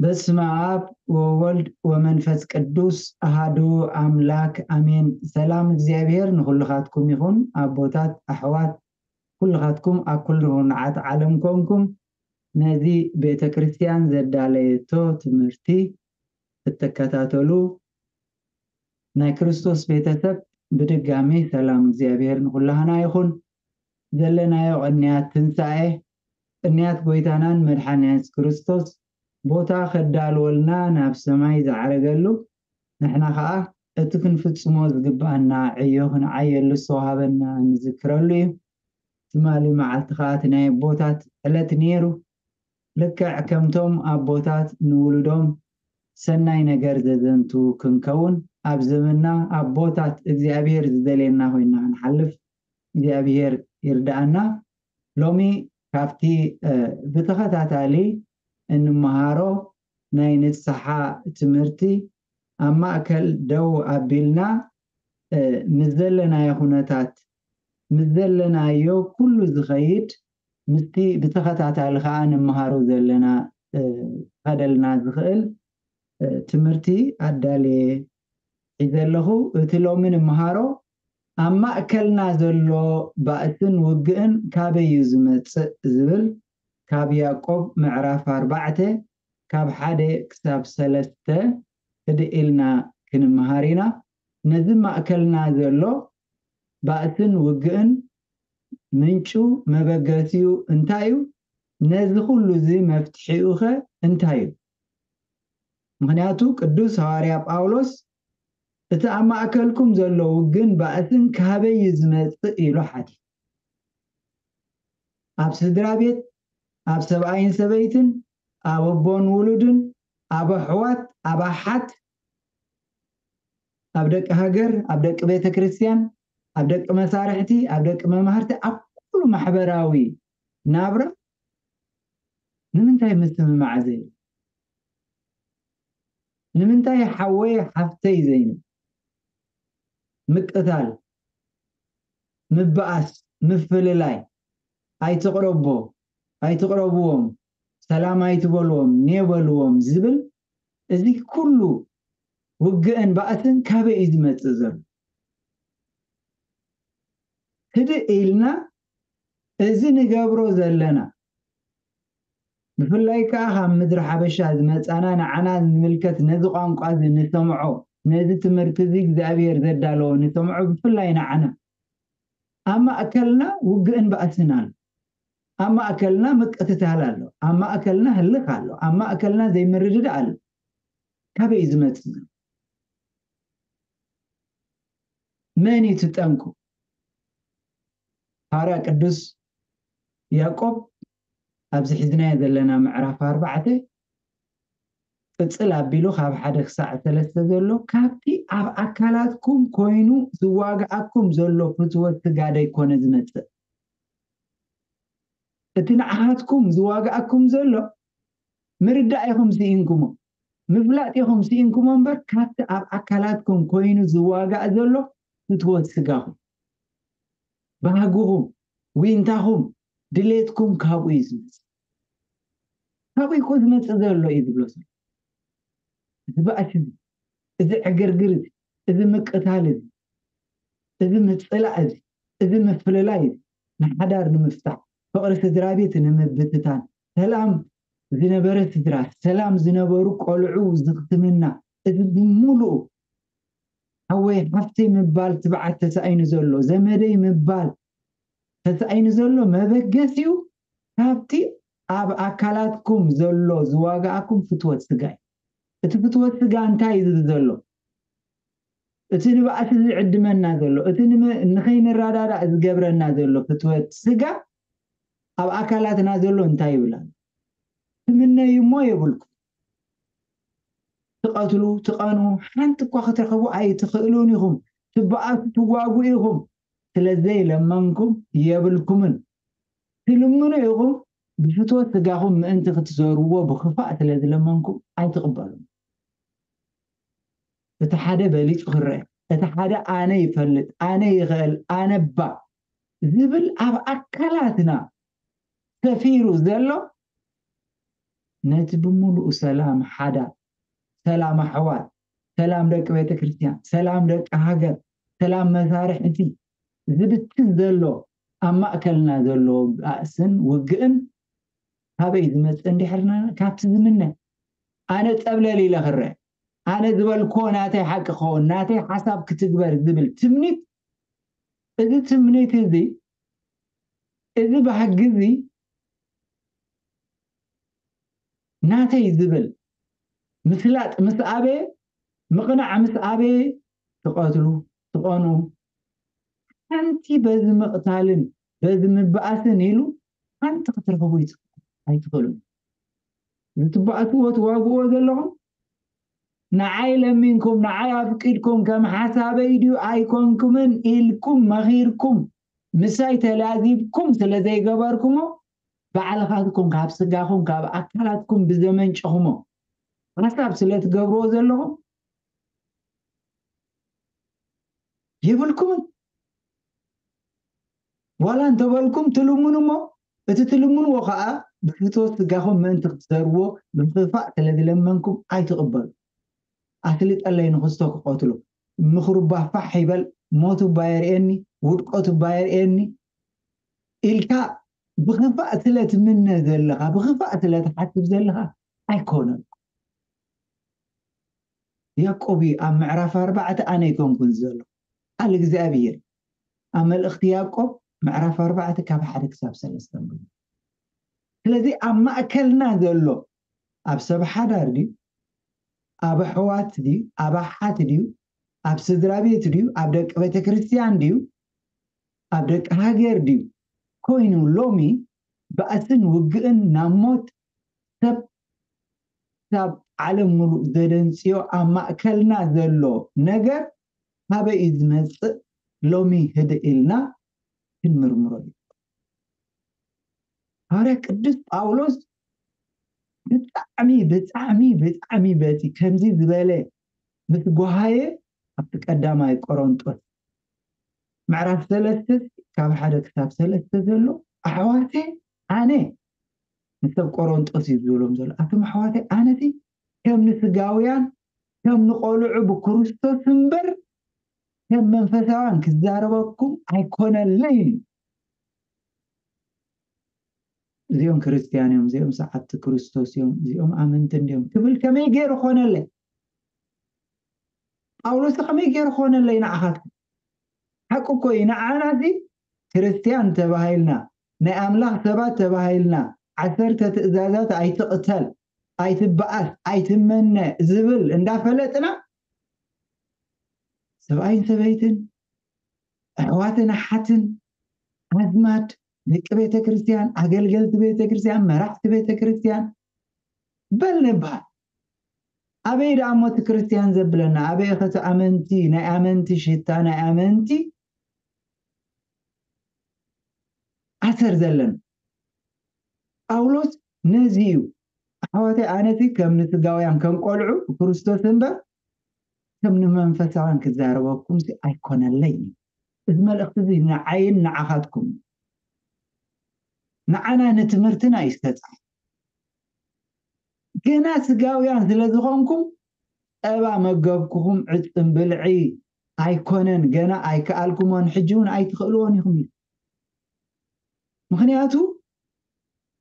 በስመ ኣብ ወወልድ ወመንፈስ ቅዱስ ኣሃዱ ኣምላክ ኣሜን። ሰላም እግዚኣብሔር ንኹልኻትኩም ይኹን። ኣቦታት፣ ኣሕዋት፣ ኩልኻትኩም ኣብ ኩሉ ርሁናዓት ዓለም ኮንኩም ነዚ ቤተ ክርስቲያን ዘዳለየቶ ትምህርቲ እተከታተሉ ናይ ክርስቶስ ቤተሰብ፣ ብድጋሚ ሰላም እግዚኣብሔር ንኹላህና ይኹን። ዘለናዮ ቅንያት ትንሳኤ፣ ቅንያት ጎይታናን መድሓን የሱስ ክርስቶስ ቦታ ከዳልወልና ናብ ሰማይ ዝዓረገሉ፣ ንሕና ኸኣ እቲ ክንፍጽሞ ዝግብኣና ዕዮ ክንዓየሉ ዝተዋሃበና ንዝክረሉ እዩ። ትማሊ መዓልቲ ኸኣ እቲ ናይ ኣቦታት ዕለት ነይሩ። ልክዕ ከምቶም ኣቦታት ንውሉዶም ሰናይ ነገር ዘዘንቱ ክንከውን፣ ኣብ ዘመንና ኣቦታት እግዚኣብሔር ዝደልየና ኮይንና ክንሓልፍ እግዚኣብሔር ይርድኣና። ሎሚ ካብቲ፣ እ፣ ብተኸታታሊ እንመሃሮ ናይ ንስሓ ትምህርቲ ኣብ ማእከል ደው ኣቢልና፣ እ፣ ምስ ዘለናዮ ኩነታት፣ ምስ ዘለናዮ ኩሉ ዝኸይድ፣ ምስቲ ብተኸታታሊ ከኣ ንመሃሮ ዘለና፣ እ፣ ክኸደልና ዝኽእል፣ እ፣ ትምህርቲ ኣዳልየ ሒዘ ኣለኹ። እቲ ሎሚ ንመሃሮ ኣብ ማእከልና ዘሎ ባእስን ውግእን ካበይ እዩ ዝመጽእ ዝብል፣ ካብ ያዕቆብ ምዕራፍ ኣርባዕተ ካብ ሓደ ክሳብ ሰለስተ ህድእ ኢልና ክንመሃር ኢና። ነዚ ማእከልና ዘሎ ባእስን ውግእን ምንጩ፣ መበገሲኡ እንታይ እዩ? ነዚ ኩሉ እዚ መፍትሒኡ ኸ እንታይ እዩ? ምኽንያቱ ቅዱስ ሃዋርያ ጳውሎስ እቲ ኣብ ማእከልኩም ዘሎ ውግእን ባእስን ካበይ እዩ ዝመጽእ ኢሉ ሓቲቱ። ኣብ ስድራ ቤት፣ ኣብ ሰብኣይን ሰበይትን፣ ኣብ ኣቦን ውሉድን፣ ኣብ ኣሕዋት፣ ኣብ ኣሓት፣ ኣብ ደቂ ሃገር፣ ኣብ ደቂ ቤተ ክርስቲያን፣ ኣብ ደቂ መሳርሕቲ፣ ኣብ ደቂ መማህርቲ፣ ኣብ ኩሉ ማሕበራዊ ናብራ ንምንታይ ምስምማዕ ዘይብሉ? ንምንታይ ሓወይ ሓፍተይ ዘይንብል? ምቅታል፣ ምባኣስ፣ ምፍልላይ፣ ኣይትቕረቦ፣ ኣይትቕረብዎም፣ ሰላም ኣይትበልዎም፣ ኔ በልዎም ዝብል፣ እዚ ኩሉ ውግእን ባእስን ካበይ እዩ ዝመጽእ ዘሎ? ህድእ ኢልና እዚ ንገብሮ ዘለና፣ ብፍላይ ከኣ ካብ ምድሪ ሓበሻ ዝመጻና፣ ንዓና ዝምልከት፣ ነዚ ቋንቋ እዚ ንሰምዖ፣ ነዚ ትምህርቲ እዚ እግዚኣብሔር ዘዳለዎ ንሰምዖ፣ ብፍላይ ንዓና ኣብ ማእከልና ውግእን ባእስን ኣሎ። ኣብ ማእከልና ምቅትታል ኣሎ። ኣብ ማእከልና ህልኽ ኣሎ። ኣብ ማእከልና ዘይምርድዳእ ኣሎ። ካበይ እዩ ዝመጽእ? መን እዩ እቲ ጠንቁ? ሃዋርያ ቅዱስ ያዕቆብ ኣብዚ ሒዝናዮ ዘለና ምዕራፍ ኣርባዕተ ቅጽል ኣቢሉ ካብ ሓደ ክሳዕ ሰለስተ ዘሎ፣ ካብቲ ኣብ ኣካላትኩም ኮይኑ ዝዋግኣኩም ዘሎ ፍትወት ስጋ ደይኮነ ዝመጽእ። እቲ ንዓኻትኩም ዝዋግኣኩም ዘሎ ምርዳእ ኢኹም ስኢንኩሞ፣ ምፍላጥ ኢኹም ስኢንኩሞ እምበር፣ ካብቲ ኣብ ኣካላትኩም ኮይኑ ዝዋጋእ ዘሎ ፍትወት ስጋኹም፣ ባህግኹም፣ ዊንታኹም፣ ድሌትኩም ካብኡ እዩ ዝመጽእ። ካብኡ እኮ ዝመጽእ ዘሎ እዩ ዝብሎ ዘሎ። እዚ ባእሲ እዚ፣ እዚ ዕግርግር እዚ፣ እዚ ምቅታል እዚ፣ እዚ ምጽላእ እዚ፣ እዚ ምፍልላይ እዚ፣ ንሓዳር ንምፍታሕ፣ ፍቕሪ ስድራ ቤት ንምብትታን፣ ሰላም ዝነበረ ስድራ፣ ሰላም ዝነበሩ ቆልዑ ዝኽትምና፣ እዚ ብምሉኡ ሓወይ ሓፍተይ ምባል ትብዓት ተሳኢኑ ዘሎ፣ ዘመደይ ምባል ተሳኢኑ ዘሎ መበገሲኡ ካብቲ ኣብ ኣካላትኩም ዘሎ ዝዋግኣኩም ፍትወት ስጋ እዩ። እቲ ፍትወት ስጋ እንታይ እዩ ዝብል ዘሎ? እቲ ንባእሲ ዝዕድመና ዘሎ፣ እቲ ንመ-፣ ንኸይንረዳዳእ ዝገብረና ዘሎ ፍትወት ስጋ ኣብ ኣካላትና ዘሎ እንታይ ይብል ኣሎ? ትምነዩ እሞ የብልኩም። ትቐትሉ፣ ትቐኑ፣ ሓንቲ እኳ ክትረኽቡ ኣይትኽእሉን ኢኹም። ትበኣሱ፣ ትዋጉ ኢኹም። ስለ ዘይለመንኩም የብልኩምን። ትልምኑ ኢኹም፣ ብፍትወት ስጋኹም ምእንቲ ክትዘርዎ ብኽፋእ ስለ ዝለመንኩም ኣይትቕበሉን። እቲ ሓደ በሊጹ ክረአ፣ እቲ ሓደ ኣነ ይፈልጥ፣ ኣነ ይኽእል፣ ኣነ እባ ዝብል ኣብ ኣካላትና ሰፊሩ ዘሎ ነቲ ብምሉኡ ሰላም ሓዳር፣ ሰላም ኣሕዋት፣ ሰላም ደቂ ቤተ ክርስቲያን፣ ሰላም ደቂ ሃገር፣ ሰላም መሳርሕቲ ዝብትን ዘሎ ኣብ ማእከልና ዘሎ ባእስን ውግእን ካበይ ዝመጽእ እንዲሕርና ካብቲ ዝምነ ኣነ ጸብለል ኢለ ክረአ ኣነ ዝበልክዎ ናተይ ሓቂ ክኸውን ናተይ ሓሳብ ክትግበር ዝብል ትምኒት እዚ ትምኒት እዚ እዚ ባህጊ እዚ ናተይ ዝብል ምስላጥ ምስ ኣበየ ምቕናዕ ምስ ኣበየ ትቐትሉ ትቐኑ ሓንቲ በዚ ምቕታልን በዚ ምባኣስን ኢሉ ሓንቲ ክትረኽቡ ኣይትኽእሉን። እዚ ትባኣስዎ ትዋግእዎ ዘለኹም ንዓይ ለሚንኩም ንዓይ ኣፍቂድኩም ከም ሓሳበይ ድዩ ኣይኮንኩምን ኢልኩም መኺርኩም ምሳይ ተላዚብኩም ስለ ዘይገበርኩሞ ባዕልኻትኩም ካብ ስጋኹም ካብ ኣካላትኩም ብዘመንጨኹሞ ሓሳብ ስለ ትገብርዎ ዘለኹም የብልኩምን። ዋላ እንተበልኩም ትልምኑ እሞ እቲ ትልምንዎ ከዓ ብፍትወት ስጋኹም ምእንቲ ክትዘርዎ ብምኽፋእ ስለ ዝለመንኩም ኣይትቕበሉ። ኣስልጠለይ ንክስቶ ክቐትሎ ምኽሩ እባ ፋሕ ይበል ሞቱ እባ የርእየኒ ውድቀቱ እባ የርእየኒ ኢልካ ብኽፋእ ስለ ትምነ ዘለኻ ብኽፋእ ስለ ትሓስብ ዘለኻ ኣይኮነን። ያዕቆብ እዩ ኣብ ምዕራፍ ኣርባዕተ ኣነ ኣይኮንኩን ዘሎ ቃል እግዚኣብሔር ኣብ መልእኽቲ ያዕቆብ ምዕራፍ ኣርባዕተ ካብ ሓደ ክሳብ ሰለስተ ንብሎ። ስለዚ ኣብ ማእከልና ዘሎ ኣብ ሰብ ሓዳር ድዩ ኣብ ኣሕዋት ድዩ ኣብ ኣሓት ድዩ ኣብ ስድራ ቤት ድዩ ኣብ ደቂ ቤተ ክርስቲያን ድዩ ኣብ ደቂ ሃገር ድዩ ኮይኑ ሎሚ ባእስን ውግእን ናብ ሞት ሰብ ክሳብ ዓለም ሙሉእ ዘደንፅዮ ኣብ ማእከልና ዘሎ ነገር ካበይ እዩ ዝመፅእ ሎሚ ህድእ ኢልና ክንምርምሮ እዩ። ሃዋርያ ቅዱስ ጳውሎስ ብጣዕሚ ብጣዕሚ ብጣዕሚ በቲ ከምዚ ዝበለ ምስ ጓሃየ ኣብቲ ቀዳማይ ቆሮንጦስ ምዕራፍ ሰለስተ ካብ ሓደ ክሳብ ሰለስተ ዘሎ ኣሕዋተ ኣነ ንሰብ ቆሮንጦስ እዩ ዝብሎም ዘሎ ኣቶም ኣሕዋተ ኣነቲ ከም ንስጋውያን ከም ንቆልዑ ብክርስቶስ እምበር ከም መንፈሳውያን ክዛረበኩም ኣይኮነለይን እዩ። እዚኦም ክርስትያን እዮም እዚኦም ሰዓብቲ ክርስቶስ እዮም እዚኦም ኣመንቲ እንዲዮም ክብል ከመይ ገይሩ ኮነለይ? ጳውሎስ ከመይ ገይሩ ኮነለይ ንዓኻትኩም? ሓቂ እኮ እዩ ንዓና እዚ ክርስትያን ተባሂልና ናይ ኣምላኽ ሰባት ተባሂልና ዓሰርተ ትእዛዛት ኣይትቕተል ኣይትበኣስ ኣይትመነ ዝብል እንዳፈለጥና ሰብኣይን ሰበይትን ኣሕዋትን ኣሓትን ኣዝማድ ደቂ ቤተ ክርስቲያን ኣገልገልቲ ቤተ ክርስቲያን መራሕቲ ቤተ ክርስቲያን በል ንበሃል ኣበይ ደኣ እሞ እቲ ክርስቲያን ዘብለና ኣበይ ኸቲ ኣመንቲ ናይ ኣመንቲ ሽታ ናይ ኣመንቲ ኣሰር ዘለና ጳውሎስ ነዚ እዩ ኣሕዋተይ ኣነቲ ከም ንስጋውያን ከም ቆልዑ ብክርስቶስ እምበር ከም ንመንፈሳውያን ክዛረበኩም ሲ ኣይኮነለይ እዩ እዚ መልእኽቲ እዚ ንዓይን ንዓኻትኩም ንዓና ንትምህርትና እዩ ዝተፃሓፈ ገና ስጋውያን ስለ ዝኾንኩም ጸባ መገብኩኹም ዕጽም ብልዒ ኣይኮነን ገና ኣይከኣልኩሞን ሕጂ እውን ኣይትኽእልዎን ኢኹም እዩ ምኽንያቱ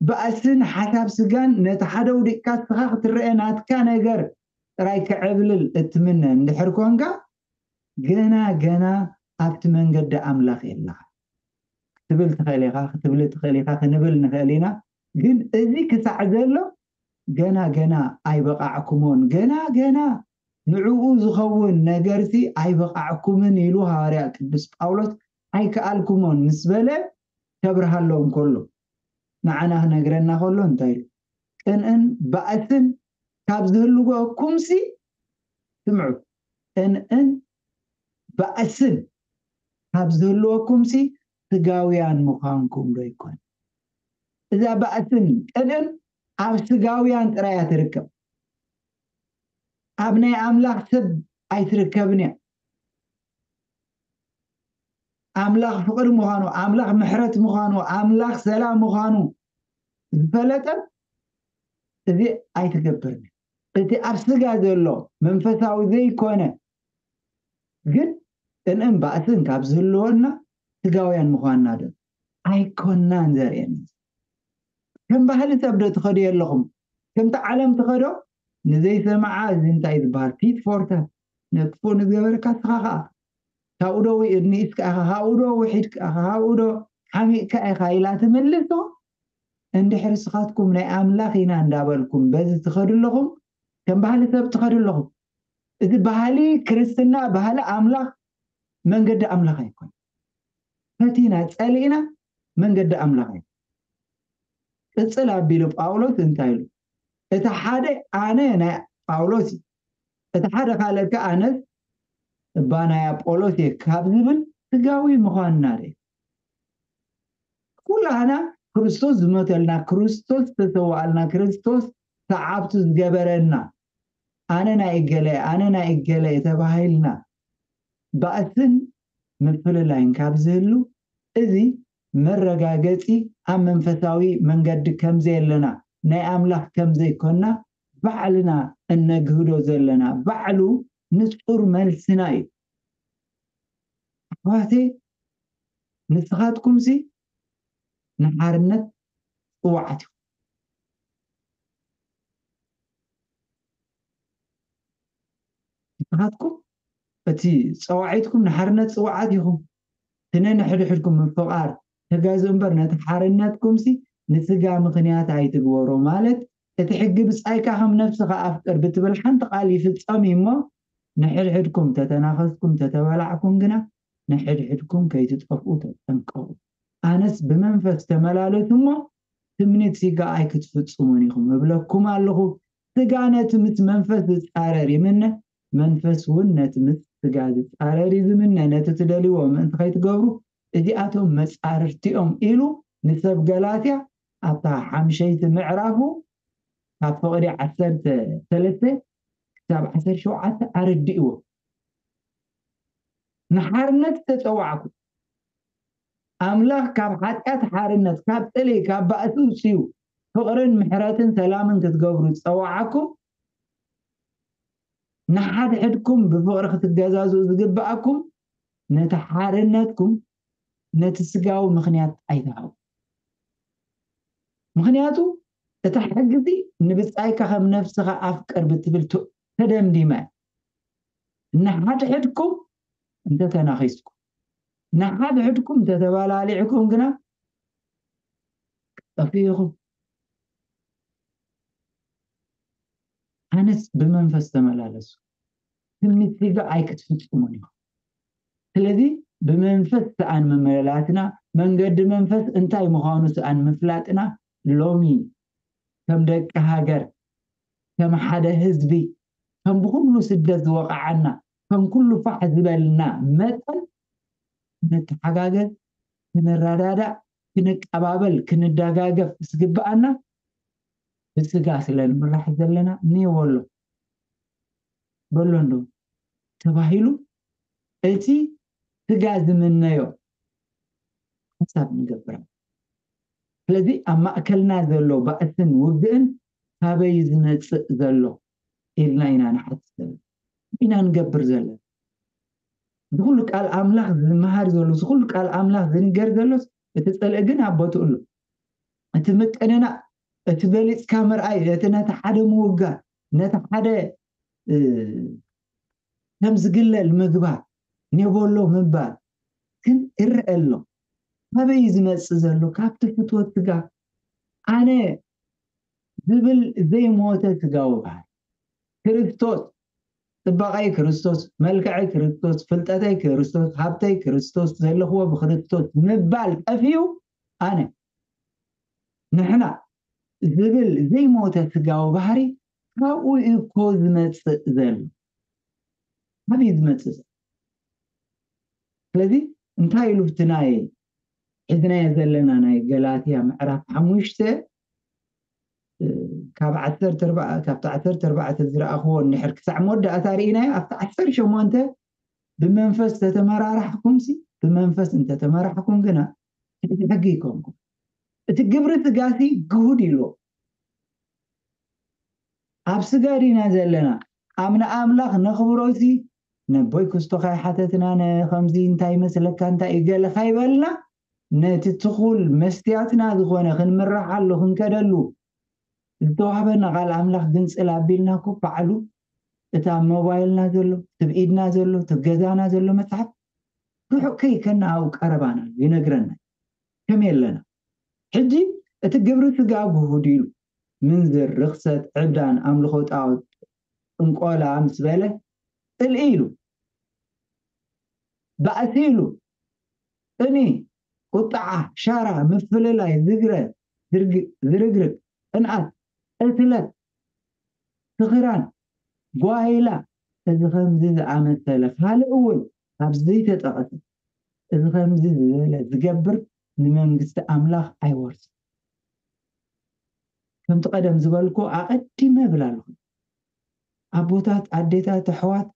ባእስን ሓሳብ ስጋን ነቲ ሓደ ውዲቅካ ስኻ ክትረአ ናትካ ነገር ጥራይ ክዕብልል እትምነ እንድሕር ኮንካ ገና ገና ኣብቲ መንገዲ ኣምላኽ የለኻ ክትብል ትኽእል ኢኻ ክትብል ትኽእል ኢኻ ክንብል ንኽእል ኢና ግን እዚ ክሳዕ ዘሎ ገና ገና ኣይበቓዕኩሞን ገና ገና ንዕኡ ዝኸውን ነገርሲ ኣይበቓዕኩምን ኢሉ ሃዋርያ ቅዱስ ጳውሎስ ኣይከኣልኩሞን ምስ በለ ከብርሃሎም ከሎ ንዓና ክነግረና ከሎ እንታይ ኢሉ ቅንእን ባእስን ካብ ዝህልወኩምሲ ስምዑ ቅንእን ባእስን ካብ ዝህልወኩምሲ ስጋውያን ምዃንኩም ዶ ይኮን እዛ ባእስን ቅንእን ኣብ ስጋውያን ጥራያ ትርከብ ኣብ ናይ ኣምላኽ ሰብ ኣይትርከብን እያ ኣምላኽ ፍቕሪ ምዃኑ ኣምላኽ ምሕረት ምዃኑ ኣምላኽ ሰላም ምዃኑ ዝፈለጠ እዚ ኣይትገብርን። እቲ ኣብ ስጋ ዘሎ መንፈሳዊ ዘይኮነ ግን እንእም ባእስን ካብ ዝህልወና ስጋውያን ምዃንና ዶ ኣይኮናን ዘርእየና። ከም ባህሊ ሰብ ዶ ትኸዱ ኣለኹም? ከምቲ ዓለም ትኸዶ ንዘይሰምዓ እዚ እንታይ ዝበሃል ፊት ፎርታት ነክፉ ንዝገበረካ ስኻ ኸዓ ካብኡ ዶ ንኢስካ ኢኻ፣ ካብኡ ዶ ውሒድካ ኢኻ፣ ካብኡ ዶ ሓሚቕካ ኢኻ ኢላ ትምልሶ። እንድሕር ስኻትኩም ናይ ኣምላኽ ኢና እንዳበልኩም በዚ ትኸዱ ኣለኹም፣ ከም ባህሊ ሰብ ትኸዱ ኣለኹም። እዚ ባህሊ ክርስትና፣ ባህሊ ኣምላኽ፣ መንገዲ ኣምላኽ ኣይኮን። ፈቲና ጸሊእና መንገዲ ኣምላኽ ኣይኮን። ቅጽል ኣቢሉ ጳውሎስ እንታይ ኢሉ? እቲ ሓደ ኣነ ናይ ጳውሎስ እዩ፣ እቲ ሓደ ካልእ ከ ኣነስ እባ ናይ ኣጶሎስ እየ ካብ ዝብል ስጋዊ ምዃንና ደ ኩላህና ክርስቶስ ዝመተልና፣ ክርስቶስ ዝተሰዋኣልና፣ ክርስቶስ ሰዓብቱ ዝገበረና፣ ኣነ ናይ እገለ ኣነ ናይ እገለ ተባሂልና ባእስን ምፍልላይን ካብ ዝህሉ፣ እዚ መረጋገጺ ኣብ መንፈሳዊ መንገዲ ከምዘየለና፣ ናይ ኣምላኽ ከምዘይኮና ባዕልና እነግህዶ ዘለና ባዕሉ ንጹር መልስና እዩ። ኣሕዋተይ፣ ንስኻትኩምሲ ንሓርነት ጽዋዓት ኢኹም። ንስኻትኩም እቲ ጸዋዒትኩም ንሓርነት ጽዋዓት ኢኹም። እቲ ነንሕድሕድኩም ምፍቓር ተጋዙ እምበር፣ ነቲ ሓርነትኩምሲ ንስጋ ምኽንያት ኣይትግበሮ። ማለት፣ እቲ ሕጊ ብጻይካ ከም ነፍስኻ ኣፍቅር ብትብል ሓንቲ ቃል ይፍጸም እዩ እሞ፣ ንሕድሕድኩም ተተናኸስኩም ተተበላዕኩም ግና፣ ንሕድሕድኩም ከይትጠፍኡ ተጠንቀቑ። ኣነስ ብመንፈስ ተመላለሱ እሞ፣ ትምኒት ሲጋ ኣይክትፍጽሙን ኢኹም እብለኩም ኣለኹ። ስጋ ነቲ ምስ መንፈስ ዝጻረር ይምነ፣ መንፈስ እውን ነቲ ምስ ስጋ ዝጻረር እዩ ዝምነ። ነቲ ትደልይዎ ምእንቲ ከይትገብሩ፣ እዚኣቶም መጻርርቲኦም ኢሉ ንሰብ ገላትያ ኣብታ ሓምሸይቲ ምዕራፉ ካብ ፍቕዲ ዓሰርተ ሰለስተ ክሳብ ዓሰርተ ሸውዓተ ኣረዲእዎ። ንሓርነት ዝተጸዋዕኩ፣ ኣምላኽ ካብ ሓጢኣት ሓርነት፣ ካብ ጽልኢ፣ ካብ ባእሲ ውጽዩ፣ ፍቕርን ምሕረትን ሰላምን ክትገብሩ ዝጸዋዓኩም፣ ንሓድሕድኩም ብፍቕሪ ክትገዛዝኡ ዝግብኣኩም፣ ነቲ ሓርነትኩም ነቲ ስጋዊ ምኽንያት ኣይትሃቡ። ምኽንያቱ፣ እታ ሕጊ እዚ ንብጻይካ ከም ነፍስኻ ኣፍቅር ብትብል ተ-፣ ተደምዲማ እያ። ንሓድሕድኩም እንተተናኺስኩም፣ ንሓድሕድኩም እንተተባላሊዕኩም ግና ክትጠፍኡ ኢኹም። ኣነስ ብመንፈስ ተመላለሱ፣ ትምኒት ስጋ ኣይክትፍጽሙን ኢኹም። ስለዚ ብመንፈስ ሰኣን ምምልላስና፣ መንገዲ መንፈስ እንታይ ምዃኑ ሰኣን ምፍላጥና፣ ሎሚ ከም ደቂ ሃገር፣ ከም ሓደ ህዝቢ፣ ከም ብኹሉ ስደት ዝወቕዓና፣ ከም ኩሉ ፋሕ ዝበልና መጠን፣ ክንተሓጋገዝ፣ ክንረዳዳእ፣ ክንቀባበል፣ ክንደጋገፍ ዝግብኣና ብስጋ ስለ ንምራሕ ዘለና፣ እኒኦ በሎ፣ በሎ እንዶ ተባሂሉ፣ እቲ ስጋ ዝምነዮ ሓሳብ ንገብር። ስለዚ ኣብ ማእከልና ዘሎ ባእስን ውግእን ካበይ ዝመጽእ ዘሎ ኢልና ኢና ንሓትት ዘለና። ኢና ንገብር ዘለና። እዚ ኩሉ ቃል ኣምላኽ ዝመሃር ዘሎ፣ እዚ ኩሉ ቃል ኣምላኽ ዝንገር ዘሎስ፣ እቲ ጽልኢ ግን ኣብ ቦትኡ ኣሎ። እቲ ምቅንናእ፣ እቲ በሊጽካ ምርኣይ፣ እቲ ነቲ ሓደ ምውጋር፣ ነቲ ሓደ፣ እ፣ ከም ዝግለል ምግባር፣ ኔቦሎ ምባል ግን ይረአ ኣሎ። ካበይ ዝመጽእ ዘሎ? ካብቲ ፍትወት ስጋ፣ ኣነ ዝብል ዘይሞተ ስጋዊ ባህሪ። ክርስቶስ፣ ጽባቐይ ክርስቶስ፣ መልክዐይ ክርስቶስ፣ ፍልጠተይ ክርስቶስ፣ ሃብተይ ክርስቶስ፣ ዘለኽዎ ብክርስቶስ ምባል ጠፊኡ፣ ኣነ፣ ንሕና ዝብል ዘይሞተ ስጋዊ ባህሪ ካብኡ እዩ እኮ ዝመጽእ ዘሎ። ካበይ ዝመጽእ ዘሎ? ስለዚ እንታይ ኢሉ ኣብቲ ናይ ሒዝናዮ ዘለና ናይ ገላትያ ምዕራፍ ሓሙሽተ፣ እ፣ ካብ ዓሰርተ ኣርባዕተ፣ ካብቲ ዓሰርተ ኣርባዕተ ዝረኣኽዎ እንድሕር ክሳዕ መወዳእታ ርኢናዮ፣ ኣብቲ ዓሰርተ ሸሞንተ ብመንፈስ ተተመራራሕኩምሲ፣ ብመንፈስ እንተተመራሕኩም ግና ትሕቲ ሕጊ ይኮንኩም። እቲ ግብሪ ስጋሲ ግሁድ ኢልዎ። ኣብ ስጋ ዲና ዘለና? ኣብ ንኣምላኽ ነኽብሮሲ ነቦይ ክስቶኻ ይሓተትና፣ ነኸምዚ እንታይ ይመስለካ፣ እንታይ እዩ ገለ ካይበልና፣ ነቲ ትኹል መስትያትና ዝኾነ ክንምርሓሉ ክንከደሉ ዝተዋህበና ቃል ኣምላኽ ግንጽል ኣቢልና እኮ ባዕሉ እቲ ኣብ ሞባይልና ዘሎ፣ እቲ ኣብ ኢድና ዘሎ፣ እቲ ኣብ ገዛና ዘሎ መጽሓፍ ርሑቕ ከይከና ኣብኡ ቀረባና እዩ፣ ይነግረና። ከመይ ኣለና? ሕጂ እቲ ግብሪ ስጋ ግሁድ ኢሉ፣ ምንዝር፣ ርኽሰት፣ ዕብዳን፣ ኣምልኾ ጣዖት፣ ጥንቆላ ምስ በለ፣ ጽልኢ ኢሉ፣ ባእሲ ኢሉ፣ ቅኒ፣ ቁጥዓ፣ ሻራ፣ ምፍልላይ፣ ዝግረ፣ ዝርግ- ዝርግርግ፣ ቅንኣት፣ ቅትለት፣ ስኽራን፣ ጓይላ፣ እዚ ከምዚ ዝኣመሰለ ካልእ እውን ኣብ ዘይተጠቐሰ፣ እዚ ከምዚ ዝበለ ዝገብር ንመንግስቲ ኣምላኽ ኣይወርስን። ከምቲ ቀደም ዝበልኩ ኣቐዲመ እብል ኣለኹ። ኣቦታት፣ ኣዴታት፣ ኣሕዋት፣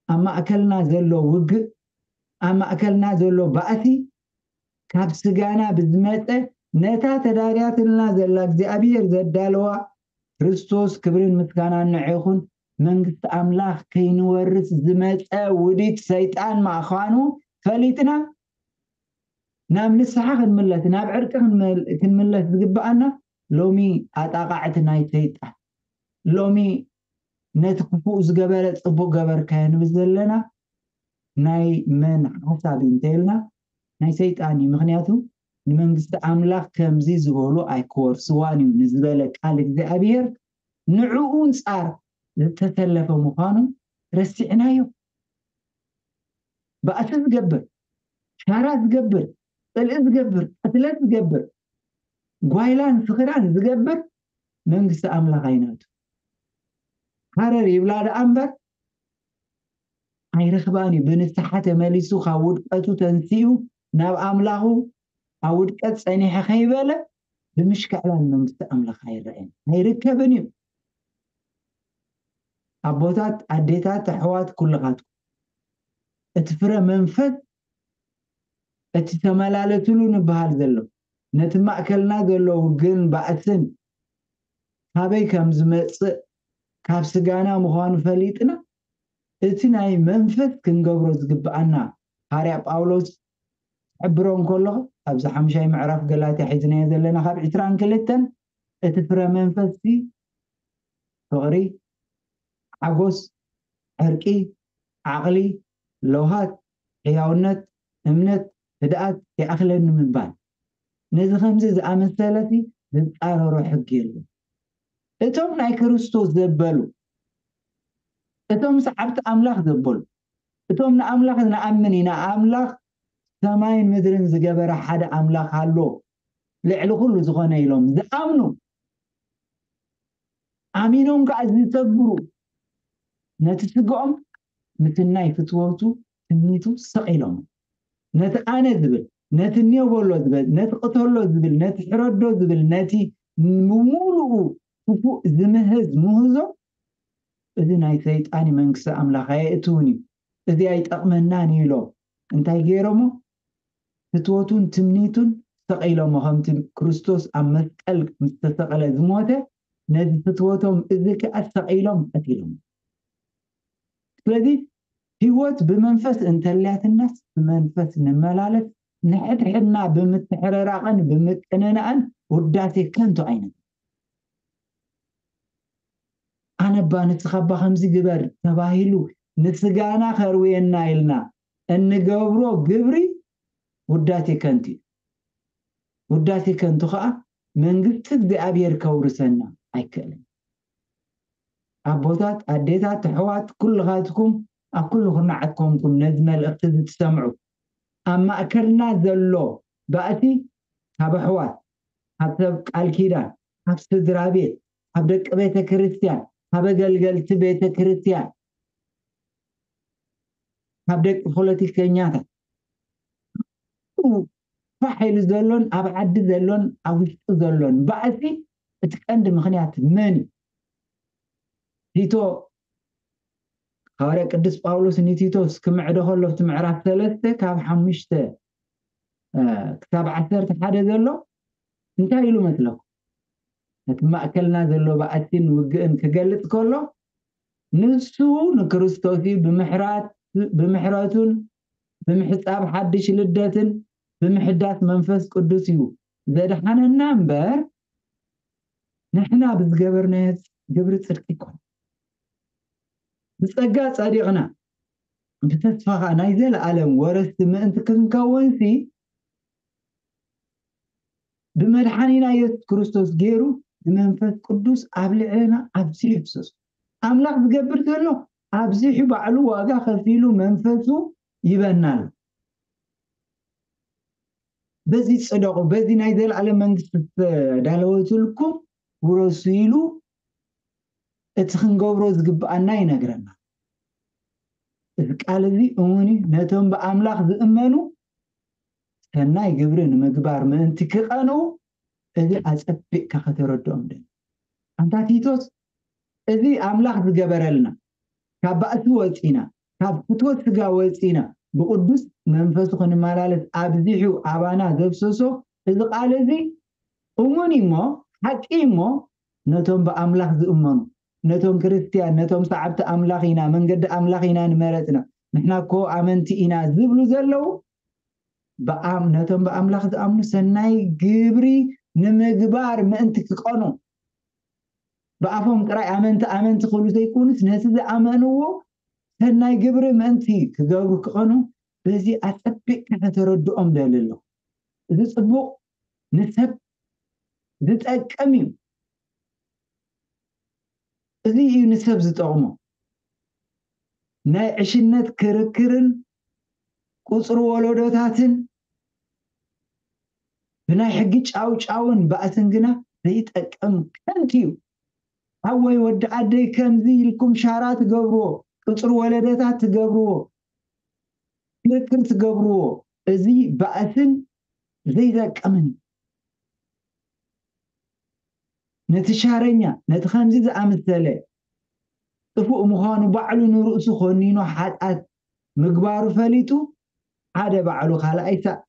ኣብ ማእከልና ዘሎ ውግእ፣ ኣብ ማእከልና ዘሎ ባእሲ ካብ ስጋና ብዝመጸ ነታ ተዳልያትልና ዘላ እግዚኣብሔር ዘዳለዋ ክርስቶስ ክብርን ምስጋናን ንዕኹን መንግስቲ ኣምላኽ ከይንወርስ ዝመጸ ውዲት ሰይጣን ምዃኑ ፈሊጥና ናብ ንስሓ ክንምለስ፣ ናብ ዕርቂ ክንመል- ክንምለስ ዝግብኣና ሎሚ ኣጣቓዕቲ ናይ ሰይጣን፣ ሎሚ ነቲ ክፉእ ዝገበረ ጽቡቕ ገበርካዮ ንብል ዘለና ናይ መን ሓሳብ እዩ እንተኢልና ናይ ሰይጣን እዩ። ምኽንያቱ ንመንግስቲ ኣምላኽ ከምዚ ዝበሉ ኣይክወርስዋን እዩ ንዝበለ ቃል እግዚኣብሔር ንዕኡ እንጻር ዝተሰለፈ ምዃኑ ረሲዕናዮ። ባእሲ ዝገብር፣ ሻራ ዝገብር፣ ጽልኢ ዝገብር፣ ቅትለት ዝገብር፣ ጓይላን ስኽራን ዝገብር መንግስቲ ኣምላኽ ኣይናቱ። ሃረር ይብላ ደኣ እምበር ኣይረኽባን እዩ። ብንስሓ ተመሊሱ ካብ ውድቀቱ ተንሲኡ ናብ ኣምላኹ ኣብ ውድቀት ጸኒሐ ከይበለ ብምሽክዕላል መንግስቲ ኣምላኽ ኣይረአን ኣይርከብን እዩ። ኣቦታት፣ ኣዴታት፣ ኣሕዋት ኩልኻትኩም እቲ ፍረ መንፈስ እቲ ተመላለስሉ ንበሃል ዘሎ ነቲ ማእከልና ዘሎ ውግእን ባእስን ካበይ ከም ዝመጽእ ካብ ስጋና ምዃኑ ፈሊጥና እቲ ናይ መንፈስ ክንገብሮ ዝግብኣና ሃርያ ጳውሎስ ክሕብሮ እንከሎ ኣብዚ ሓምሻይ ምዕራፍ ገላትያ ሒዝናዮ ዘለና ካብ ዕስራን ክልተን እቲ ፍረ መንፈስ ፍቕሪ፣ ሓጎስ፣ ዕርቂ፣ ዓቕሊ፣ ለውሃት፣ ሕያውነት፣ እምነት፣ ህድኣት ይኣኽለኒ ምባል። ነዚ ከምዚ ዝኣመሰለሲ ዝጻረሮ ሕጊ የለን። እቶም ናይ ክርስቶስ ዘበሉ፣ እቶም ሰዓብቲ ኣምላኽ ዘበሉ፣ እቶም ንኣምላኽ ንኣምን ኢና፣ ኣምላኽ ሰማይን ምድርን ዝገበረ ሓደ ኣምላኽ ኣሎ፣ ልዕሊ ኩሉ ዝኾነ ኢሎም ዝኣምኑ፣ ኣሚኖም ከዓ ዝተግብሩ፣ ነቲ ስግኦም ምስናይ ፍትወቱ ትምኒቱ ሰቒሎም፣ ነቲ ኣነ ዝብል፣ ነቲ እኔው በሎ ዝብል፣ ነቲ ቅተሎ ዝብል፣ ነቲ ሕረዶ ዝብል፣ ነቲ ብምሉኡ ክፉእ ዝምህዝ ምህዞ፣ እዚ ናይ ሰይጣን መንግስቲ ኣምላኽ ኣየእትውን እዩ፣ እዚ ኣይጠቕመናን እዩ ኢሎም እንታይ ገይሮሞ? ፍትወቱን ትምኒቱን ሰቒሎሞ፣ ከምቲ ክርስቶስ ኣብ መስቀል ምስ ተሰቐለ ዝሞተ ነዚ ፍትወቶም እዚ ከኣ ሰቒሎም ቀቲሎም። ስለዚ ህይወት ብመንፈስ እንተልያትናስ ብመንፈስ ንመላለስ፣ ንሕድሕድና ብምትሕርራቕን ብምቅንናእን ውዳሴ ከንቱ ኣይነት ኣነባ ንስኻባ ከምዚ ግበር ተባሂሉ ንስጋና ከርውየና ኢልና እንገብሮ ግብሪ ውዳሴ ከንቱ እዩ። ውዳሴ ከንቱ ከዓ መንግስቲ እግዚኣብሔር ከውርሰና ኣይክእልን። ኣቦታት፣ ኣዴታት፣ ኣሕዋት፣ ኩልኻትኩም ኣብ ኩሉ ኩርናዓት ኮንኩም ነዚ መልእኽቲ እዚ ትሰምዑ፣ ኣብ ማእከልና ዘሎ ባእሲ ካብ ኣሕዋት፣ ካብ ሰብ ቃል ኪዳን፣ ካብ ስድራ ቤት፣ ካብ ደቂ ቤተ ክርስቲያን፣ ካብ ኣገልገልቲ ቤተ ክርስቲያን፣ ካብ ደቂ ፖለቲከኛታት ፋሕ ኢሉ ዘሎን ኣብ ዓዲ ዘሎን ኣብ ውሽጡ ዘሎን ባእሲ እቲ ቀንዲ ምኽንያት መን እዩ? ቲቶ፣ ሃዋርያ ቅዱስ ጳውሎስ ንቲቶስ ክምዕዶ ከሎ ኣብቲ ምዕራፍ ሰለስተ ካብ ሓሙሽተ ክሳብ ዓሰርተ ሓደ ዘሎ እንታይ ኢሉ መስለኩም? ነቲ ማእከልና ዘሎ ባእሲን ውግእን ክገልጽ ከሎ፣ ንሱ ንክርስቶስ እዩ ብምሕራት-፣ ብምሕረቱን ብምሕጻብ ሓድሽ ልደትን ብምሕዳስ መንፈስ ቅዱስ እዩ ዘድሓነና እምበር፣ ንሕና ብዝገበርናዮ ግብሪ ጽድቂ ይኮን። ብጸጋ ጸዲቕና፣ ብተስፋኻ ናይ ዘለኣለም ወረስቲ ምእንቲ ክንከውንሲ፣ ብመድሓኒና የሱስ ክርስቶስ ገይሩ ንመንፈስ ቅዱስ ኣብ ልዕለና ኣብዚሑ ይፍሰሱ። ኣምላኽ ዝገብር ዘሎ ኣብዚሑ ባዕሉ ዋጋ ከፊሉ መንፈሱ ይበና ኣሎ። በዚ ጽደቑ፣ በዚ ናይ ዘለኣለም መንግስቲ ዝተዳለወትልኩም ውረሱ ኢሉ እቲ ክንገብሮ ዝግብኣና ይነግረና። እዚ ቃል እዚ እሙን እዩ። ነቶም ብኣምላኽ ዝእመኑ ሰናይ ግብሪ ንምግባር ምእንቲ ክቐንኡ፣ እዚ ኣጸቢቕካ ከተረድኦም ደሊ። ኣንታ ቲቶስ፣ እዚ ኣምላኽ ዝገበረልና፣ ካብ ባእሲ ወጺና፣ ካብ ፍትወት ስጋ ወጺና፣ ብቅዱስ መንፈሱ ክንመላለስ ኣብዚሑ ኣባና ዘፍሰሶ እዚ ቃል እዚ እሙን እዩ እሞ፣ ሓቂ እዩ እሞ፣ ነቶም ብኣምላኽ ዝእመኑ፣ ነቶም ክርስትያን፣ ነቶም ሰዓብቲ ኣምላኽ ኢና፣ መንገዲ ኣምላኽ ኢና ንመረጽና፣ ንሕና እኮ ኣመንቲ ኢና ዝብሉ ዘለዉ፣ ብኣም-፣ ነቶም ብኣምላኽ ዝኣምኑ ሰናይ ግብሪ ንምግባር ምእንቲ ክቐኑ፣ ብኣፎም ጥራይ ኣመንቲ፣ ኣመንቲ ክብሉ ዘይኮኑስ፣ ነቲ ዝኣመንዎ ሰናይ ግብሪ ምእንቲ ክገብሩ ክቐኑ፣ በዚ ኣጸቢቕካ ከተረድኦም ደሊ ኣለኹ። እዚ ጽቡቕ፣ ንሰብ ዝጠቅም እዩ። እዚ እዩ ንሰብ ዝጠቕሞ። ናይ ዕሽነት ክርክርን ቁጽሪ ወለዶታትን ብናይ ሕጊ ጫውጫውን ባእስን ግና ዘይጠቅም ከንቱ እዩ። ሓወይ ወዲ ዓደይ ከምዚ ኢልኩም ሻራ ትገብርዎ፣ ቁጽሪ ወለዶታት ትገብርዎ፣ ክርክር ትገብርዎ፣ እዚ ባእስን ዘይጠቅምን እዩ። ነቲ ሻረኛ፣ ነቲ ከምዚ ዝኣመሰለ ጥፉእ ምዃኑ ባዕሉ ንርእሱ ኮኒኑ ሓጢኣት ምግባሩ ፈሊጡ፣ ሓደ ባዕሉ ካልኣይ ሳእ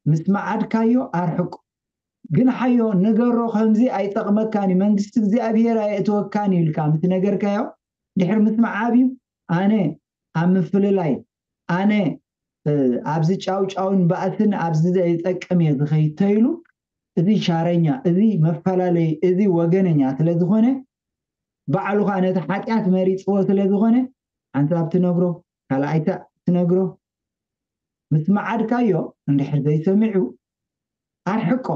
ምስ መዓድካዮ ኣርሕቆ። ግንሓዮ፣ ንገሮ፣ ከምዚ ኣይጠቕመካን እዩ፣ መንግስቲ እግዚኣብሄር ኣየእትወካን እዩ ኢልካ ምስ ነገርካዮ፣ ድሕሪ ምስማዕ ኣብዩ፣ ኣነ ኣብ ምፍልላይ፣ ኣነ፣ እ፣ ኣብዚ ጫውጫውን ባእስን ኣብዚ ዘይጠቅም እየ ዝኸይድ ተይሉ፣ እዚ ሻረኛ፣ እዚ መፈላለይ፣ እዚ ወገነኛ ስለ ዝኾነ፣ ባዕሉ ኸኣ ነቲ ሓጢኣት መሪጽዎ ስለ ዝኾነ፣ ሓንሳብ ትነግሮ፣ ካልኣይታ ትነግሮ፣ ምስ መዓድካዮ እንድሕር ዘይሰሚዑ፣ ኣርሕቆ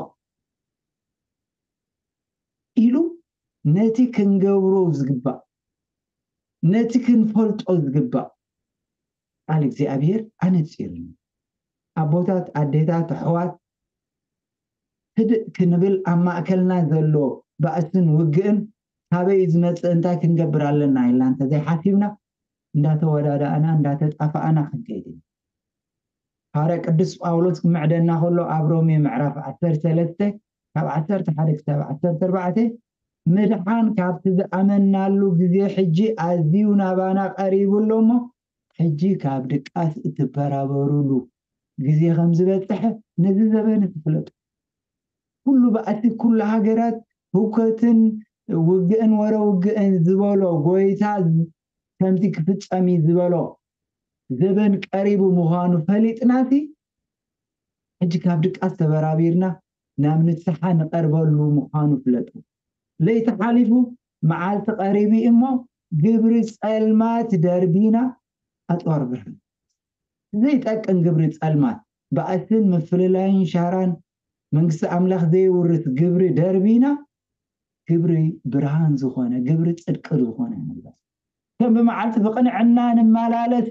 ኢሉ ነቲ ክንገብሮ ዝግባእ፣ ነቲ ክንፈልጦ ዝግባእ ቃል እግዚኣብሔር ኣነጺሩኒ። ኣቦታት፣ ኣዴታት፣ ኣሕዋት፣ ህድእ ክንብል፣ ኣብ ማእከልና ዘሎ ባእስን ውግእን ካበይ እዩ ዝመጽእ፣ እንታይ ክንገብር ኣለና ኢልና እንተዘይሓሲብና፣ እንዳተወዳዳእና፣ እንዳተጣፋእና ክንከይድ ኢና። ሃዋርያ ቅዱስ ጳውሎስ ክምዕደና ከሎ ኣብ ሮሜ ምዕራፍ ዓሰርተ ሰለስተ ካብ ዓሰርተ ሓደ ክሳብ ዓሰርተ ኣርባዕተ፣ ምድሓን ካብቲ ዝኣመናሉ ግዜ ሕጂ ኣዝዩ ናባና ቀሪቡ ኣሎ እሞ፣ ሕጂ ካብ ድቃስ እትበራበሩሉ ግዜ ከም ዝበጽሐ ነዚ ዘበን ትፍለጡ። ኩሉ ባእሲ፣ ኩሉ ሃገራት፣ ህውከትን ውግእን ወረ ውግእን ዝበሎ ጎይታ ከምቲ ክፍጸም እዩ ዝበሎ ዘበን ቀሪቡ ምዃኑ ፈሊጥናሲ፣ ሕጂ ካብ ድቃስ ተበራቢርና ናብ ንስሓ ንቐርበሉ ምዃኑ ፍለጡ። ለይቲ ሓሊፉ፣ መዓልቲ ቀሪቡ እሞ፣ ግብሪ ጸልማት ደርቢና ኣጽዋር ብርሃን። ዘይጠቅም ግብሪ ጸልማት፣ ባእስን ምፍልላይን ሻራን መንግስቲ ኣምላኽ ዘይውርስ ግብሪ ደርቢና፣ ግብሪ ብርሃን ዝኾነ፣ ግብሪ ጽድቂ ዝኾነ ንግበር። ከም ብመዓልቲ ብቕንዕና ንመላለስ፣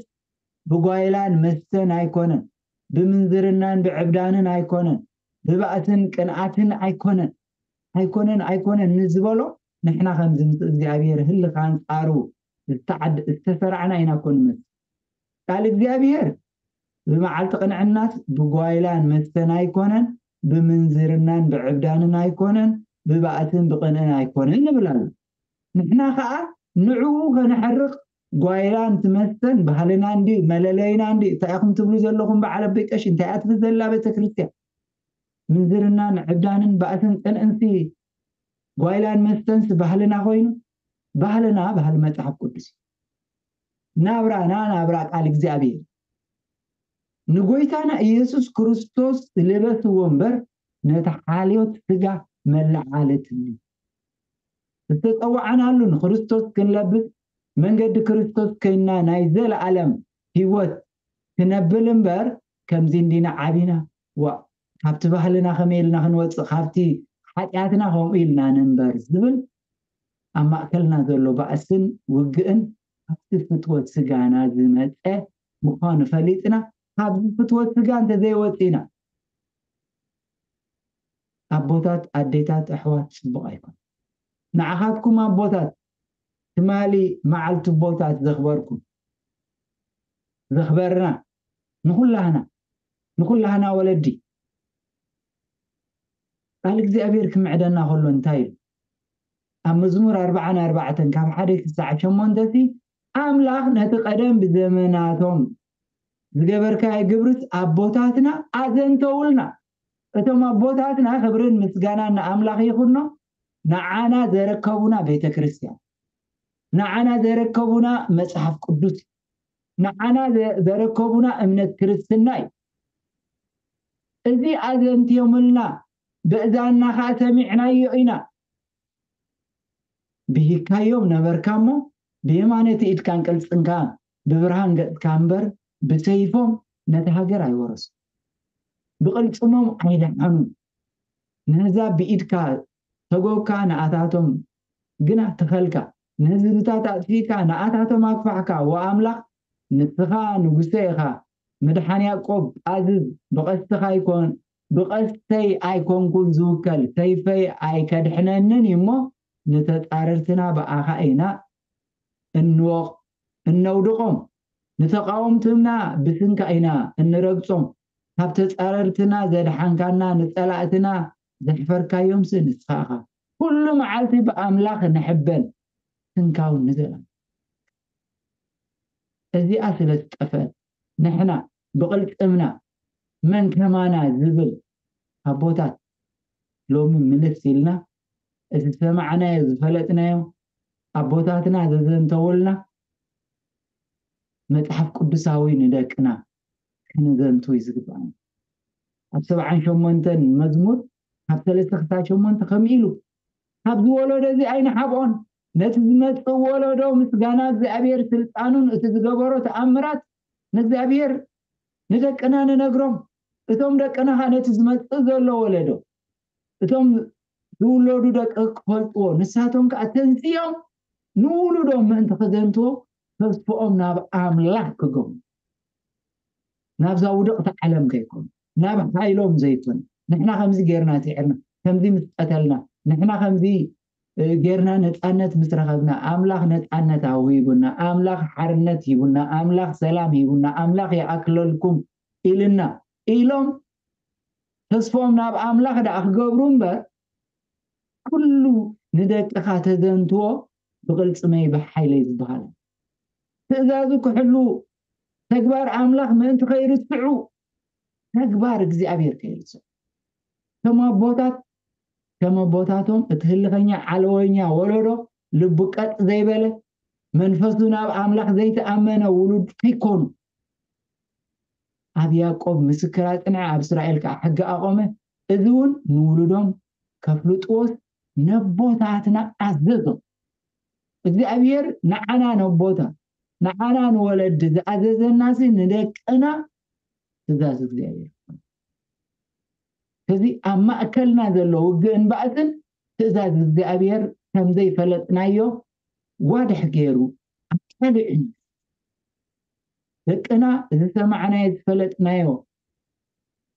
ብጓይላን መስተን ኣይኮነን፣ ብምንዝርናን ብዕብዳንን ኣይኮነን፣ ብባእስን ቅንኣትን ኣይኮነን፣ ኣይኮነን፣ ኣይኮነን ንዝበሎ፣ ንሕና ከምዚ ምስ እግዚኣብሔር ህልኽ ኣንጻሩ ዝተዓድ-፣ ዝተሰራዕና ኢና እኮ ንመስል። ቃል እግዚኣብሔር ብመዓልቲ ቅንዕናስ ብጓይላን መስተን ኣይኮነን፣ ብምንዝርናን ብዕብዳንን ኣይኮነን፣ ብባእስን ብቕንእን ኣይኮነን ንብል ኣሎ። ንሕና ኸኣ ንዕኡ ከነሕርቕ ጓይላን ትመስተን ባህልና እንዲ መለለይና እንዲ እንታይ ኢኹም ትብሉ ዘለኹም በዓል ኣቦይ ቀሺ? እንታይ እያ ትብል ዘላ ቤተ ክርስቲያን? ምንዝርናን ዕብዳንን ባእስን ቅንእንሲ ጓይላን መስተንስ ባህልና ኮይኑ፣ ባህልና ባህሊ መጽሓፍ ቅዱስ እዩ። ናብራና ናብራ ቃል እግዚኣብሔር። ንጎይታና ኢየሱስ ክርስቶስ ልበስዎ እምበር፣ ነቲ ሓልዮት ስጋ መለዓለትኒ። ዝተጸዋዕናሉ ንክርስቶስ ክንለብስ፣ መንገዲ ክርስቶስ ኮይንና ናይ ዘለኣለም ህይወት ክነብል እምበር፣ ከምዚ እንዲና ዓቢና፣ ዋ፣ ካብቲ ባህልና ከመይ ኢልና ክንወጽእ፣ ካብቲ ሓጢኣትና ከምኡ ኢልና ንንበር ዝብል ኣብ ማእከልና ዘሎ ባእስን ውግእን ካብቲ ፍትወት ስጋና ዝመጸ ምዃኑ ፈሊጥና፣ ካብዚ ፍትወት ስጋ እንተዘይወጺና፣ ኣቦታት፣ ኣዴታት፣ ኣሕዋት፣ ጽቡቕ ኣይኮን። ንዓኻትኩም ኣቦታት፣ ትማሊ መዓልቲ ኣቦታት ዘኽበርኩም፣ ዘኽበርና፣ ንኹላህና፣ ንኹላህና ወለዲ፣ ቃል እግዚኣብሔር ክምዕደና ከሎ እንታይ ኢሉ? ኣብ መዝሙር ኣርብዓን ኣርባዕተን ካብ ሓደ ክሳዕ ሸሞንተ ሲ፣ ኣምላኽ ነቲ ቀደም ብዘመናቶም ዝገበርካዮ ግብርስ ኣቦታትና ኣዘንተውልና። እቶም ኣቦታትና፣ ክብርን ምስጋናን ንኣምላኽ ይኹኖ፣ ንዓና ዘረከቡና ቤተ ክርስቲያን፣ ንዓና ዘረከቡና መጽሓፍ ቅዱስ፣ ንዓና ዘ-፣ ዘረከቡና እምነት ክርስትና እዩ። እዚ ኣዘንትዮምልና፣ ብእዛንና ኸኣ ሰሚዕናዮ ኢና። ብሂካዮም ነበርካ እሞ፣ ብየማነቲ ኢድካን ቅልጽንካን ብብርሃን ገጽካ እምበር፣ ብሰይፎም ነቲ ሃገር ኣይወረሱ። ብቕልጽሞም ኣይደሓኑን። ነዛ ብኢድካ ተጎብካ፣ ንኣታቶም ግና ተኸልካ። ንህዝብታት ኣጥፊእካ፣ ንኣታቶም ኣግፋሕካ። ወኣምላኽ፣ ንስኻ ንጉሰ ኢኻ። ምድሓን ያዕቆብ ኣዝዝ፣ ብቐስትኻ ኣይኮን-፣ ብቐስተይ ኣይኮንኩን ዝውከል፣ ሰይፈይ ኣይከድሕነንን እዩ እሞ፣ ንተጻረርትና ብኣኻ ኢና እንወቕ-፣ እነውድቖም። ንተቓወምትና ብስንካ ኢና እንረግጾም። ካብ ተጻረርትና ዘድሓንካና፣ ንጸላእትና ዘሕፈርካዮምሲ ንስኻ ኢኻ። ኩሉ መዓልቲ ብኣምላኽ ንሕበን፣ ስንካውን ንዘላለም። እዚኣ ስለ ዝጠፍአት፣ ንሕና ብቕልጽምና መን ከማና ዝብል ኣቦታት ሎሚ ምልስ ኢልና፣ እቲ ዝሰማዕናዮ ዝፈለጥናዮ ኣቦታትና ዘዘንተውልና መጽሓፍ ቅዱሳዊ ንደቅና ክንዘንቱ እዩ ዝግባኣና። ኣብ ሰብዓን ሸሞንተን መዝሙር ካብ ሰለስተ ክሳብ ሸሞንተ ከምኡ ኢሉ፣ ካብዚ ወለዶ እዚ ኣይንሓብኦን፣ ነቲ ዝመጽእ ወለዶ ምስጋና እግዚኣብሔር ስልጣኑን እቲ ዝገበሮ ተኣምራት ንእግዚኣብሔር ንደቅና ንነግሮም። እቶም ደቅና ኸኣ ነቲ ዝመጽእ ዘሎ ወለዶ፣ እቶም ዝውለዱ ደቂ ክፈልጥዎ፣ ንሳቶም ከኣ ተንስዮም ንውሉዶም ምእንቲ ክዘንትዎ ተስፍኦም ናብ ኣምላኽ ክገብሩ፣ ናብዛ ውድቕቲ ዓለም ከይኮኑ፣ ናብ ሓይሎም ዘይኮነ። ንሕና ከምዚ ጌርና ስዒርና፣ ከምዚ ምስ ቀተልና፣ ንሕና ከምዚ፣ እ፣ ጌርና ነጻነት ምስ ረኸብና፣ ኣምላኽ ነጻነት ኣውሂቡና፣ ኣምላኽ ሓርነት ሂቡና፣ ኣምላኽ ሰላም ሂቡና፣ ኣምላኽ ይኣክለልኩም ኢልና ኢሎም ተስፍኦም ናብ ኣምላኽ ደኣ ክገብሩ እምበር፣ ኩሉ ንደቅኻ ተዘንትዎ ብቕልጽመይ ብሓይለይ ዝበሃል። ትእዛዙ ክሕሉ፣ ተግባር ኣምላኽ ምእንቲ ከይርስዑ፣ ተግባር እግዚኣብሔር ከይርስዑ። ከም ኣቦታት፣ ከም ኣቦታቶም እቲ ህልኸኛ ዓለወኛ ወለዶ ልቡ ቀጥ ዘይበለ፣ መንፈሱ ናብ ኣምላኽ ዘይተኣመነ ውሉድ ከይኮኑ። ኣብ ያዕቆብ ምስክር ኣጽንዐ፣ ኣብ እስራኤል ከኣ ሕጊ ኣቖመ። እዚ እውን ንውሉዶም ከፍልጥዎስ ነቦታትና ኣዘዞም። እግዚኣብሔር ንዓና ነቦታ፣ ንዓና ንወለዲ ዝኣዘዘናሲ ንደቅና ትእዛዝ እግዚኣብሔር። እዚ ኣብ ማእከልና ዘሎ ውግእን ባእስን ትእዛዝ እግዚኣብሔር ከም ዘይፈለጥናዮ ዋድሕ ገይሩ ኣቃሊዑ። ደቅና ዝሰማዕናዮ ዝፈለጥናዮ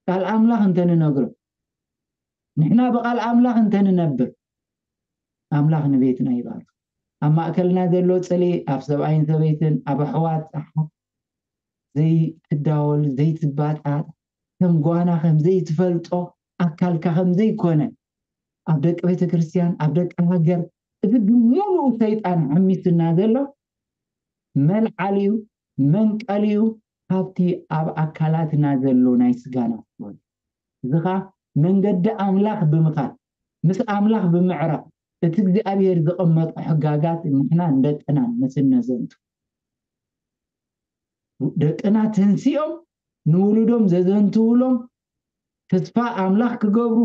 ቃል ኣምላኽ እንተንነግሮ፣ ንሕና ብቃል ኣምላኽ እንተንነብር፣ ኣምላኽ ንቤትና ይባርኽ። ኣብ ማእከልና ዘሎ ጽልኢ፣ ኣብ ሰብኣይን ሰበይትን፣ ኣብ ኣሕዋት፣ ኣሓት ዘይትዳወል፣ ዘይትባጻጽ፣ ከም ጓና ከም ዘይትፈልጦ፣ ኣካልካ ከም ዘይኮነ፣ ኣብ ደቂ ቤተ ክርስቲያን፣ ኣብ ደቂ ሃገር፣ እዚ ብምሉኡ ሰይጣን ሓሚሱና ዘሎ መልዓሊኡ፣ መንቀሊኡ፣ ካብቲ ኣብ ኣካላትና ዘሎ ናይ ስጋና ፍትወት። እዚ ኸኣ መንገዲ ኣምላኽ ብምኻድ፣ ምስ ኣምላኽ ብምዕራቕ፣ እቲ እግዚኣብሔር ዘቐመጦ ሕጋጋት ንሕና ንደቅና ምስነዘንቱ፣ ደቅና ተንሲኦም ንውሉዶም ዘዘንትውሎም፣ ተስፋ ኣምላኽ ክገብሩ፣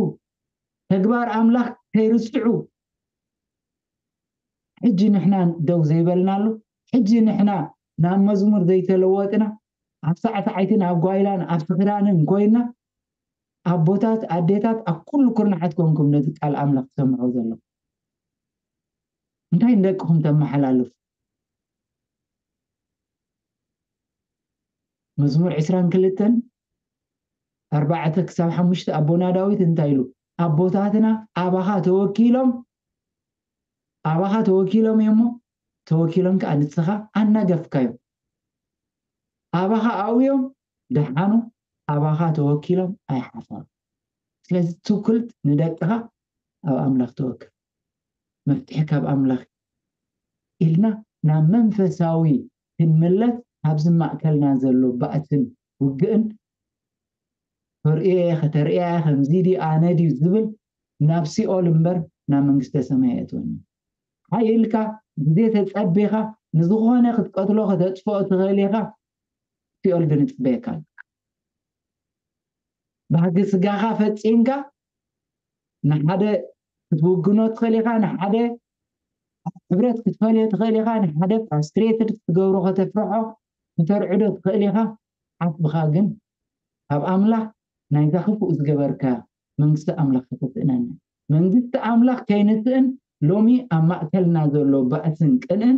ተግባር ኣምላኽ ከይርስዑ፣ ሕጂ ንሕና ደው ዘይበልናሉ፣ ሕጂ ንሕና ናብ መዝሙር ዘይተለወጥና፣ ኣብ ሳዕሳዓይትን ኣብ ጓይላን ኣብ ስኽራንን ኮይና፣ ኣቦታት ኣዴታት ኣብ ኩሉ ኩርናዓት ኮንኩም ነዚ ቃል ኣምላኽ ትሰምዑ ዘለኹም፣ እንታይ ንደቅኹም ተመሓላልፉ? መዝሙር ዕስራን ክልተን ኣርባዕተ ክሳብ ሓሙሽተ ኣቦና ዳዊት እንታይ ኢሉ? ኣቦታትና ኣባኻ ተወኪሎም፣ ኣባኻ ተወኪሎም እዮሞ፣ ተወኪሎም ከኣ ንስኻ ኣናገፍካዮም። ኣባኻ ኣውዮም ደሓኑ፣ ኣባኻ ተወኪሎም ኣይሓፈሩ። ስለዚ ትውክልት ንደቅኻ ኣብ ኣምላኽ ተወክል። መፍትሒ ካብ ኣምላኽ ኢልና ናብ መንፈሳዊ ክንምለስ፣ ኣብዚ ማእከልና ዘሎ ባእትን ውግእን ተርእየ ከተርእያ ከምዚ ድዩ ኣነ ድዩ ዝብል ናብ ሲኦል እምበር ናብ መንግስተ ሰማይ ኣየእትወኒ። ሓይልካ ግዜ ተጸቢኻ ንዝኾነ ክትቀትሎ ከተጥፍኦ ትኽእል ኢኻ። ሲኦል ግን ይጽበየካ ኣሎ። ባህጊ ስጋኻ ፈጺምካ ንሓደ ክትውግኖ ትኽእል ኢኻ፣ ንሓደ ሕብረት ክትፈልዮ ትኽእል ኢኻ፣ ንሓደ ፍራስትሬትድ ክትገብሮ ከተፍርሖ ከተርዕዶ ትኽእል ኢኻ። ዓስብኻ ግን ካብ ኣምላኽ ናይዛ ክፉእ ዝገበርካ መንግስቲ ኣምላኽ ከተስእነና። መንግስቲ ኣምላኽ ከይንስእን ሎሚ ኣብ ማእከልና ዘሎ ባእስን ቅንእን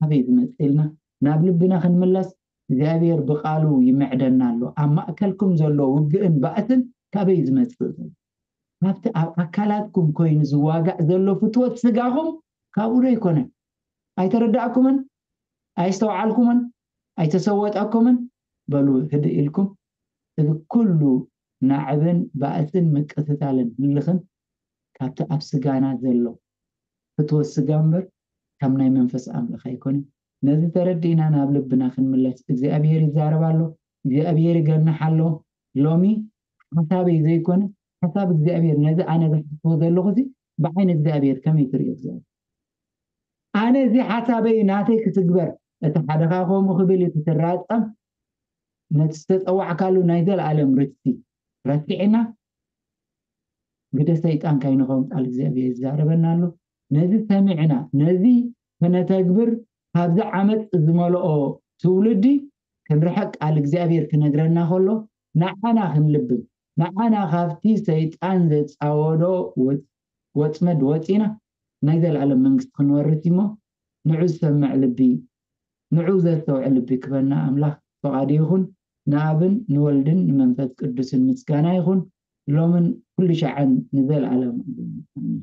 ኣበይ ዝመጽእ ኢልና ናብ ልብና ክንምለስ እግዚኣብሔር ብቃሉ ይምዕደና ኣሎ። ኣብ ማእከልኩም ዘሎ ውግእን ባእስን ካበይ ዝመጽእ ዘሎ? ካብቲ ኣብ ኣካላትኩም ኮይኑ ዝዋጋእ ዘሎ ፍትወት ስጋኹም ካብኡ ዶ ኣይኮነን? ኣይተረዳእኩምን? ኣይስተውዓልኩምን? ኣይተሰወጠኩምን? በሉ ህድእ ኢልኩም፣ እዚ ኩሉ ናዕብን ባእስን ምቅትታልን ህልኽን ካብቲ ኣብ ስጋና ዘሎ ፍትወት ስጋ እምበር ካብ ናይ መንፈስ ኣምላኽ ኣይኮነን። ነዚ ተረዲእና ናብ ልብና ክንምለስ እግዚኣብሔር ይዛረብ ኣሎ። እግዚኣብሔር ይገንሕ ኣሎ። ሎሚ ሓሳበይ ዘይኮነ ሓሳብ እግዚኣብሔር፣ ነዚ ኣነ ዝሓስቦ ዘለኹ እዚ ብዓይኒ እግዚኣብሔር ከመይ ትርእዮ እግዚኣብሔር? ኣነ እዚ ሓሳበይ ናተይ ክትግበር፣ እቲ ሓደኻ ከምኡ ክብል እቲ ትራጸም ነቲ ዝተጸዋዕካሉ ናይ ዘለኣለም ርስቲ ረሲዕና ግደ ሰይጣን ካይንኸውን ቃል እግዚኣብሔር ይዛረበና ኣሎ። ነዚ ሰሚዕና ነዚ ከነተግብር ካብዚ ዓመፅ ዝመልኦ ትውልዲ ክንርሕቅ ቃል እግዚኣብሔር ክነግረና ከሎ ንዓና ክንልብም ንዓና ካብቲ ሰይጣን ዘፃወዶ ወ- ወፅመድ ወፂና ናይ ዘለኣለም መንግስቲ ክንወርስ እሞ ንዑ ዝሰምዕ ልቢ ንዑ ዘስተውዕል ልቢ ክበና ኣምላኽ ፈቓዱ ይኹን። ንኣብን ንወልድን ንመንፈስ ቅዱስን ምስጋና ይኹን ሎምን ኩሉ ሻዕን ንዘለኣለም። ኣሜን።